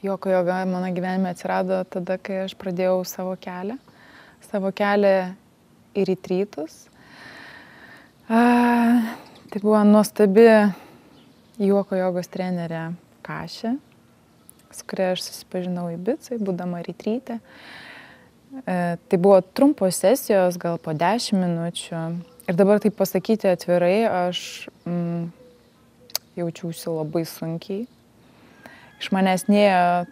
Joko joga mano gyvenime atsirado tada, kai aš pradėjau savo kelią į retrytus. Tai buvo nuostabi joko jogos trenerė Kašė, su kuria aš susipažinau Ibicoj, būdama retryte. Tai buvo trumpos sesijos, gal po 10 minučių. Ir dabar taip pasakyti atvirai, aš jaučiausi labai sunkiai. Iš manęs nėjo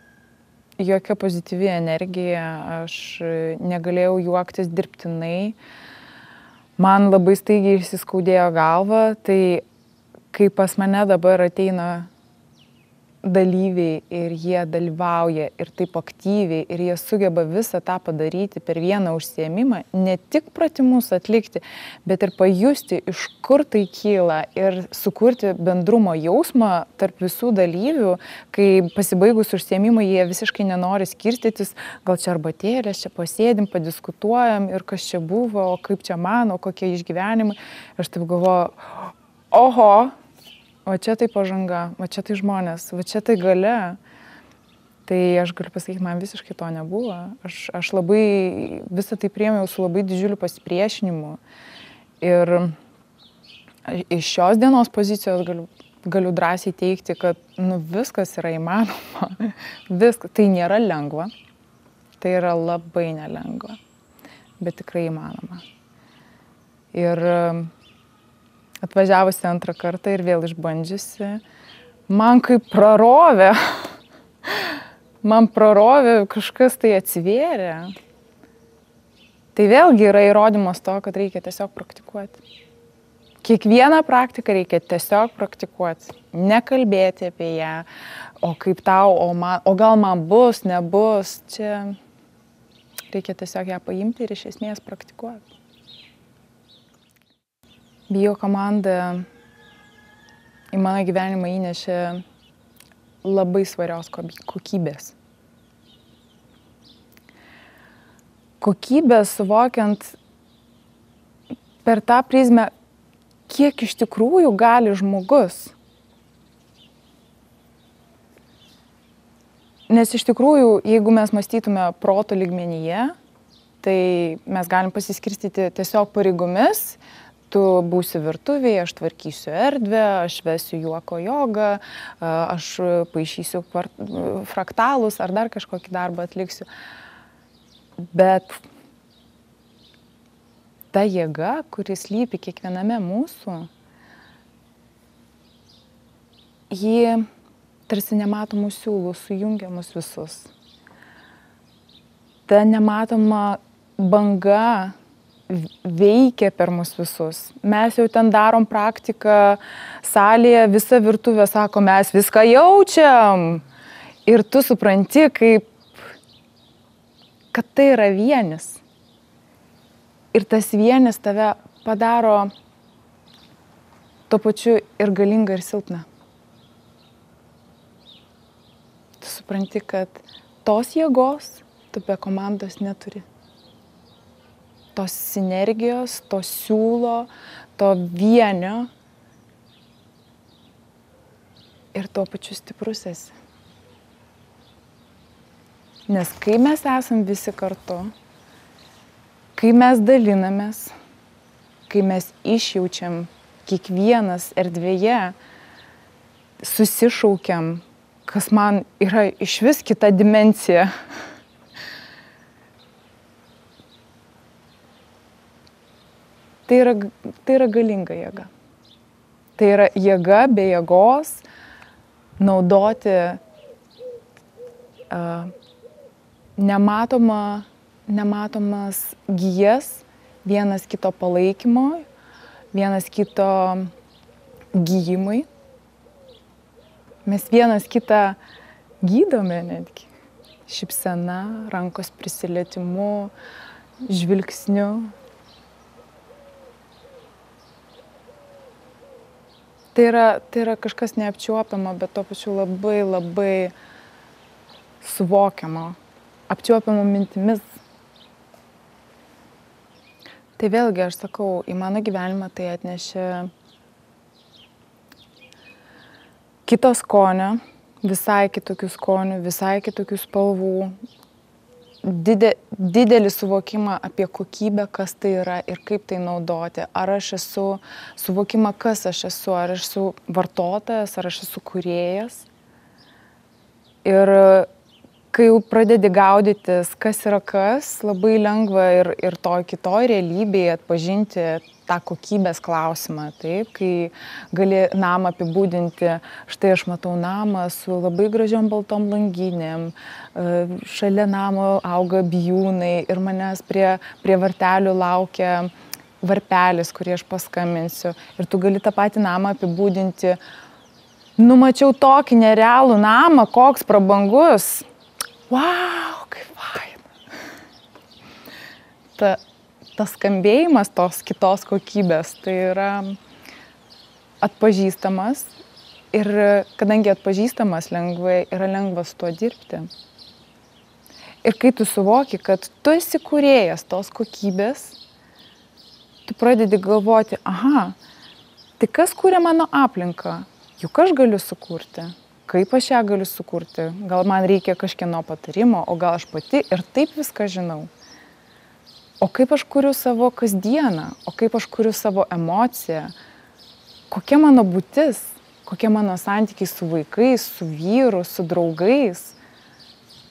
jokia pozityvi energija, aš negalėjau juoktis dirbtinai. Man labai staigiai išsiskaudėjo galva, tai kai pas mane dabar ateina dalyviai ir jie dalyvauja ir taip aktyviai ir jie sugeba visą tą padaryti per vieną užsiėmimą, ne tik pratimus atlikti, bet ir pajusti, iš kur tai kyla ir sukurti bendrumo jausmą tarp visų dalyvių, kai pasibaigus užsiėmimą jie visiškai nenori skirstytis, gal čia arbatėlės, čia pasėdim, padiskutuojam ir kas čia buvo, o kaip čia mano, kokie išgyvenimai. Aš taip galvoju, oho, va čia tai pažanga, va čia tai žmonės, va čia tai galia. Tai aš galiu pasakyti, man visiškai to nebuvo. Aš labai visą tai priėmiau su labai didžiuliu pasipriešinimu. Ir iš šios dienos pozicijos galiu drąsiai teikti, kad viskas yra įmanoma. Viskas. Tai nėra lengva. Tai yra labai nelengva. Bet tikrai įmanoma. Ir atvažiavusi antrą kartą ir vėl išbandžiusi, man kaip prarovė. Man prarovė, kažkas tai atsivėrė. Tai vėlgi yra įrodymas to, kad reikia tiesiog praktikuoti. Kiekvieną praktiką reikia tiesiog praktikuoti. Nekalbėti apie ją, o kaip tau, o gal man bus, nebus. Čia reikia tiesiog ją paimti ir iš esmės praktikuoti. Bio komanda į mano gyvenimą įnešė labai svarios kokybės. Kokybės suvokiant per tą prizmę, kiek iš tikrųjų gali žmogus. Nes iš tikrųjų, jeigu mes mąstytume proto lygmenyje, tai mes galim pasiskirstyti tiesiog pareigomis. Tu būsi virtuvėje, aš tvarkysiu erdvę, aš vesiu joko jogą, aš paišysiu fraktalus ar dar kažkokį darbą atliksiu. Bet ta jėga, kuris slypi kiekviename mūsų, ji tarsi nematomų siūlų sujungia mus visus. Ta nematoma banga veikia per mus visus. Mes jau ten darom praktiką salėje, visa virtuvė sako, mes viską jaučiam. Ir tu supranti, kad tai yra vienis. Ir tas vienis tave padaro tuo pačiu ir galingą, ir silpną. Tu supranti, kad tos jėgos tu be komandos neturi. Tos sinergijos, to siūlo, to vienio ir tuo pačiu stiprus esi. Nes kai mes esam visi kartu, kai mes dalinamės, kai mes išjaučiam kiekvienas erdvėje, susišaukiam, kas man yra išvis kita dimensija. Tai yra galinga jėga. Tai yra jėga be jėgos naudoti nematomas gijas vienas kito palaikymo, vienas kito gijimui. Mes vienas kitą gydome netgi. Šypsena, rankos prisilietimu, žvilgsniu. Tai yra kažkas neapčiuopiamo, bet tuo pačiu labai, labai suvokiamo, apčiuopiamo mintimis. Tai vėlgi, aš sakau, į mano gyvenimą tai atnešė kito skonio, visai kitokių skonių, visai kitokių spalvų, didelį suvokimą apie kokybę, kas tai yra ir kaip tai naudoti. Ar aš esu suvokimą, kas aš esu, ar aš esu vartotojas, ar aš esu kūrėjas. Ir kai jau pradedi gaudytis, kas yra kas, labai lengva ir toj kitoj realybėje atpažinti tą kokybės klausimą, taip, kai gali namą apibūdinti, štai aš matau namą su labai gražiom baltom langinėm, šalia namo auga bijūnai ir manęs prie vartelių laukia varpelis, kurį aš paskambinsiu. Ir tu gali tą patį namą apibūdinti, numačiau tokį nerealų namą, koks prabangus. Wow, kaip faina. Tas skambėjimas tos kitos kokybės, tai yra atpažįstamas ir kadangi atpažįstamas lengvai, yra lengva su tuo dirbti. Ir kai tu suvoki, kad tu esi kūrėjas tos kokybės, tu pradedi galvoti, aha, tai kas kūrė mano aplinką? Juk aš galiu sukurti. Kaip aš ją galiu sukurti? Gal man reikia kažkieno patarimo, o gal aš pati ir taip viską žinau. O kaip aš kuriu savo kasdieną, o kaip aš kuriu savo emociją, kokia mano būtis, kokie mano santykiai su vaikais, su vyru, su draugais.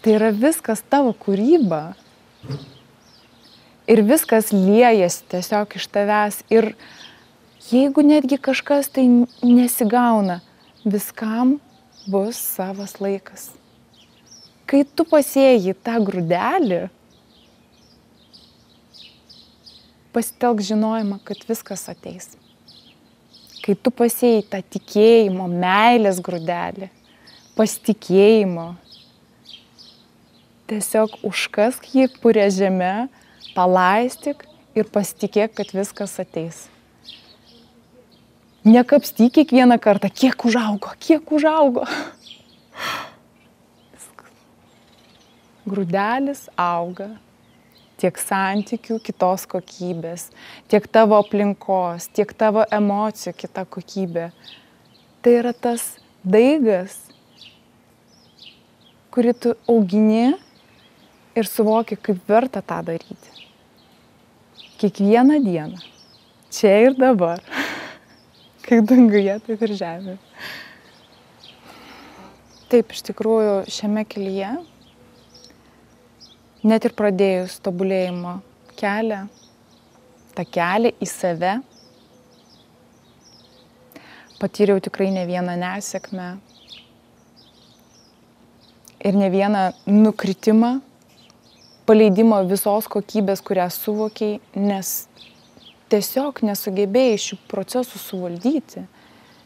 Tai yra viskas tavo kūryba. Ir viskas liejasi tiesiog iš tavęs. Ir jeigu netgi kažkas tai nesigauna, viskam bus savas laikas. Kai tu pasėjai tą grūdelį, pasitelk žinojimą, kad viskas ateis. Kai tu pasėjai tą tikėjimo, meilės grūdelį, pasitikėjimo, tiesiog užkask jį purė žeme, palaistyk ir pasitikėk, kad viskas ateis. Nekapstyk kiekvieną kartą, kiek užaugo. Grūdelis auga. Tiek santykių kitos kokybės, tiek tavo aplinkos, tiek tavo emocijų kita kokybė. Tai yra tas daigas, kurį tu augini ir suvoki, kaip verta tą daryti. Kiekvieną dieną, čia ir dabar, kaip danguje, taip ir žemėje. Taip, iš tikrųjų, šiame kelyje, net ir pradėjus tobulėjimo kelią, tą kelią į save, patyriau tikrai ne vieną nesėkmę ir ne vieną nukritimą, paleidimą visos kokybės, kurią suvokiai, nes tiesiog nesugebėjai šių procesų suvaldyti,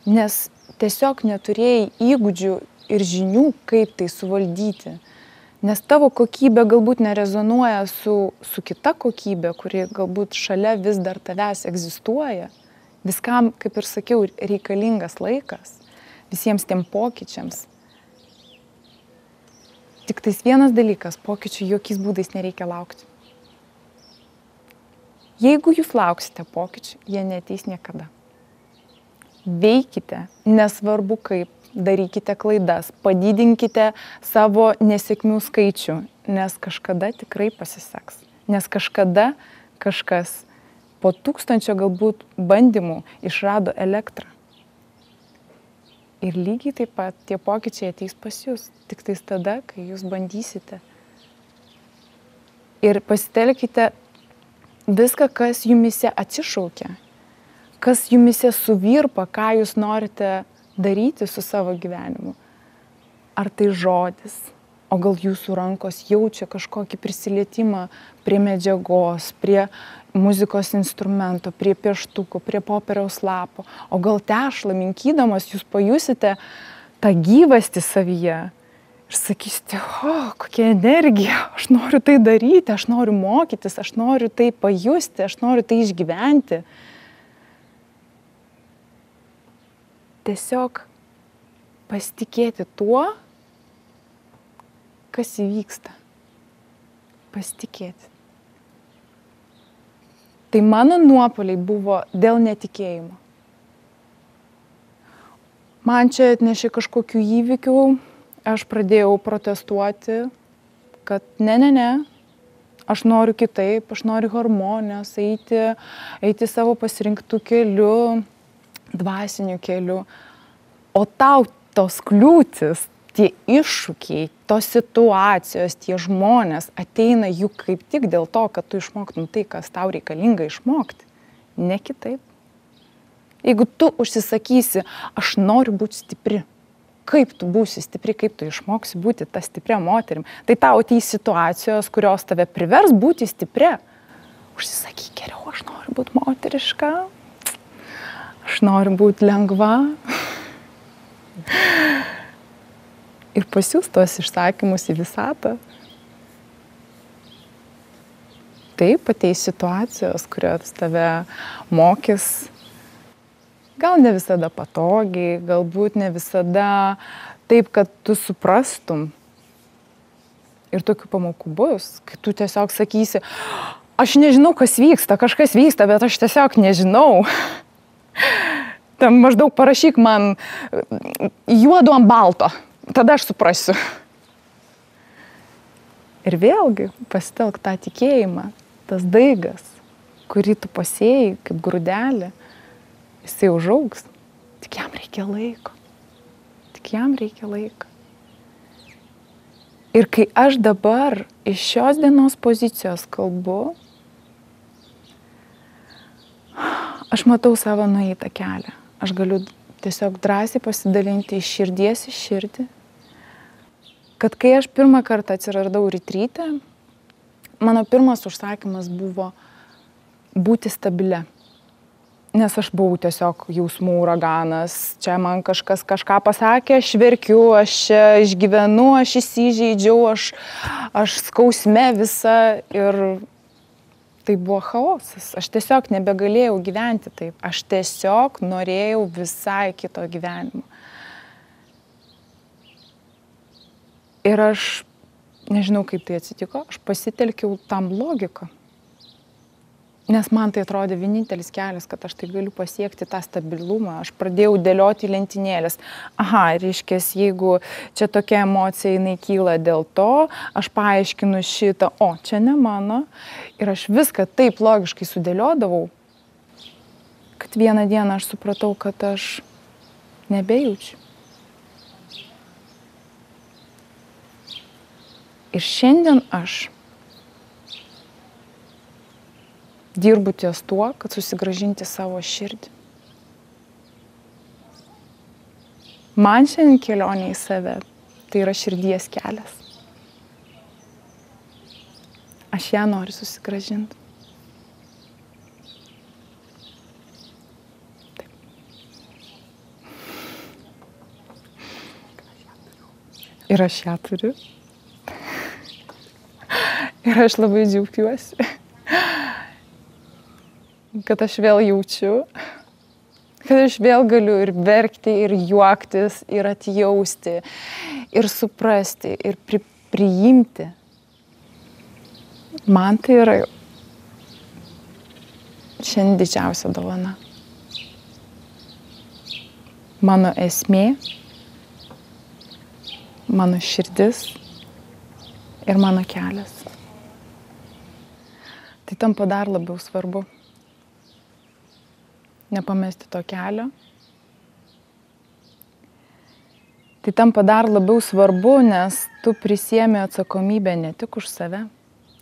nes tiesiog neturėjai įgūdžių ir žinių, kaip tai suvaldyti. Nes tavo kokybė galbūt nerezonuoja su kita kokybė, kuri galbūt šalia vis dar tavęs egzistuoja. Viskam, kaip ir sakiau, reikalingas laikas, visiems tiem pokyčiams. Tik tais vienas dalykas, pokyčių jokiais būdais nereikia laukti. Jeigu jūs lauksite pokyčių, jie neateis niekada. Veikite, nesvarbu kaip. Darykite klaidas, padidinkite savo nesėkmių skaičių, nes kažkada tikrai pasiseks. Nes kažkada kažkas po 1000 galbūt bandymų išrado elektrą. Ir lygiai taip pat tie pokyčiai ateis pas jūs, tik tais tada, kai jūs bandysite. Ir pasitelkite viską, kas jumise atsišaukia, kas jumise suvirpa, ką jūs norite daryti su savo gyvenimu. Ar tai žodis, o gal jūsų rankos jaučia kažkokį prisilietimą prie medžiagos, prie muzikos instrumento, prie pieštukų, prie popieriaus lapo, o gal tešlą minkydamas jūs pajusite tą gyvastį savyje ir sakysite, kokia energija, aš noriu tai daryti, aš noriu mokytis, aš noriu tai pajusti, aš noriu tai išgyventi. Tiesiog pasitikėti tuo, kas įvyksta. Pasitikėti. Tai mano nuopuoliai buvo dėl netikėjimo. Man čia atnešė kažkokių įvykių, aš pradėjau protestuoti, kad ne, aš noriu kitaip, aš noriu harmonijos, eiti savo pasirinktų keliu, dvasiniu keliu. O tau tos kliūtis, tie iššūkiai, tos situacijos, tie žmonės ateina juk kaip tik dėl to, kad tu išmoktum tai, kas tau reikalinga išmokti, ne kitaip. Jeigu tu užsisakysi, aš noriu būti stipri, kaip tu būsi stipri, kaip tu išmoksi būti tą stiprią moterim, tai tau ateis situacijos, kurios tave privers būti stipria. Užsisakyk geriau, aš noriu būti moteriška, aš noriu būti lengva. Ir pasiūs tuos išsakymus į visatą. Taip, ateis situacijos, kurios tave mokys, gal ne visada patogiai, galbūt ne visada taip, kad tu suprastum. Ir tokių pamokų bus, kai tu tiesiog sakysi, aš nežinau, kas vyksta, kažkas vyksta, bet aš tiesiog nežinau. Tam maždaug parašyk man juodu ant balto. Tada aš suprasiu. Ir vėlgi pasitelk tą tikėjimą, tas daigas, kurį tu pasėjai kaip grūdelį, jisai užaugs. Tik jam reikia laiko. Tik jam reikia laiko. Ir kai aš dabar iš šios dienos pozicijos kalbu, aš matau savo nueitą kelią. Aš galiu tiesiog drąsiai pasidalinti iš širdies į širdį, kad kai aš pirmą kartą atsiradau retryte, mano pirmas užsakymas buvo būti stabilia. Nes aš buvau tiesiog jausmų uraganas, čia man kažkas kažką pasakė, aš verkiu, aš čia išgyvenu, aš įsižeidžiau, aš skausme visa ir tai buvo chaosas. Aš tiesiog nebegalėjau gyventi taip. Aš tiesiog norėjau visai kito gyvenimo. Ir aš, nežinau kaip tai atsitiko, aš pasitelkiau tam logiką. Nes man tai atrodė vienintelis kelias, kad aš tai galiu pasiekti tą stabilumą. Aš pradėjau dėlioti lentynėlės. Aha, reiškia, jeigu čia tokia emocija jinai kyla dėl to, aš paaiškinu šitą, o čia ne mano. Ir aš viską taip logiškai sudėliodavau, kad vieną dieną aš supratau, kad aš nebejaučiu. Ir šiandien aš dirbu ties tuo, kad susigrąžinti savo širdį. Man šiandien kelionė į save tai yra širdies kelias. Aš ją noriu susigrąžinti. Taip. Ir aš ją turiu. Ir aš labai džiaugiuosi, kad aš vėl jaučiu, kad aš vėl galiu ir verkti, ir juoktis, ir atjausti, ir suprasti, ir priimti. Man tai yra šiandien didžiausia dovana. Mano esmė, mano širdis ir mano kelias. Tai tampa dar labiau svarbu. Nepamesti to kelio. Tai tampa dar labiau svarbu, nes tu prisiemi atsakomybę ne tik už save,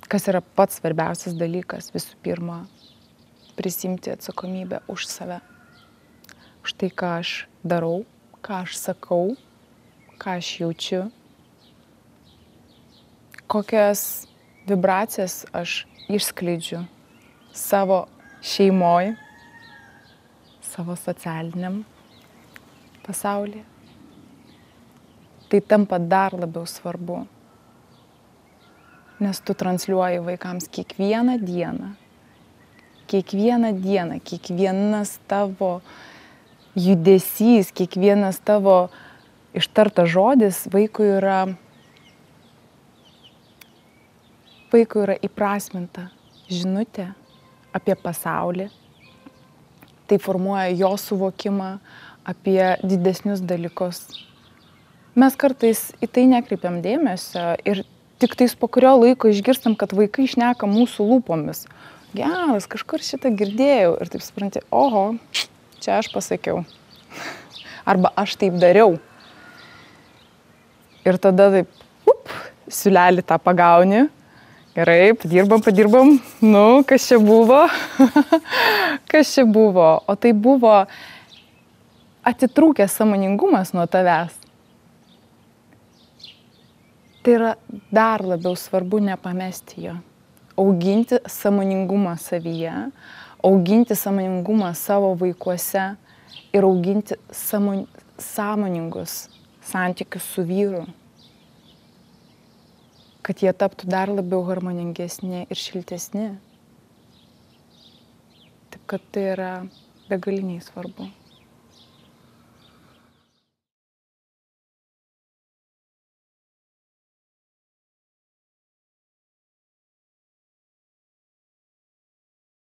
kas yra pats svarbiausias dalykas, visų pirma, prisimti atsakomybę už save. Už tai, ką aš darau, ką aš sakau, ką aš jaučiu, kokias vibracijas aš išskleidžiu savo šeimoj, savo socialiniam pasaulyje. Tai tampa dar labiau svarbu, nes tu transliuoji vaikams kiekvieną dieną, kiekvienas tavo judesys, kiekvienas tavo ištartas žodis vaikui yra įprasminta žinutė apie pasaulį. Tai formuoja jo suvokimą apie didesnius dalykus. mes kartais į tai nekreipiam dėmesio ir tik tais po kurio laiko išgirstam, kad vaikai šneka mūsų lūpomis. Geras, kažkur šitą girdėjau ir taip supranti, oho, čia aš pasakiau. Arba aš taip dariau. Ir tada taip, siūlelį tą pagauni. Gerai, padirbam. Nu, kas čia buvo? Kas čia buvo? O tai buvo atitrūkęs sąmoningumas nuo tavęs. Tai yra dar labiau svarbu nepamesti jo. Auginti sąmoningumą savyje, auginti sąmoningumą savo vaikuose ir auginti sąmoningus santykius su vyru, kad jie taptų dar labiau harmoningesni ir šiltesni. Taip kad tai yra begaliniai svarbu.